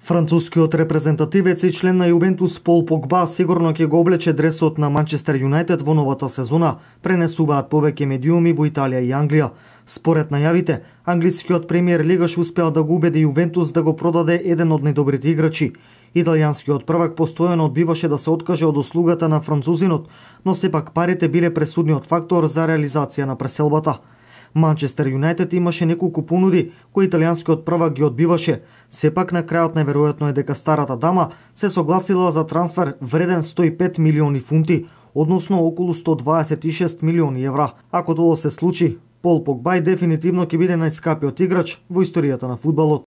Францускиот репрезентативец и член на Јувентус Пол Погба сигурно ќе го облече дресот на Манчестер Юнајтед во новата сезона, пренесуваат повеќе медиуми во Италија и Англија. Според најавите, англискиот премиер лигаш успеал да го убеди Јувентус да го продаде еден од најдобрите играчи. Италијанскиот prvак постојано одбиваше да се откаже од услугата на французинот, но сепак парите биле пресудниот фактор за реализација на преселбата. Манчестер Юнајтед имаше неколку понуди кои италијанскиот prvак ги одбиваше. Сепак на крајот најверојатно е дека старата дама се согласила за трансфер вреден 105 милиони фунти, односно околу 126 милиони евра. Ако тоа се случи, Пол Погба дефинитивно ќе биде најскапиот играч во историјата на фудбалот.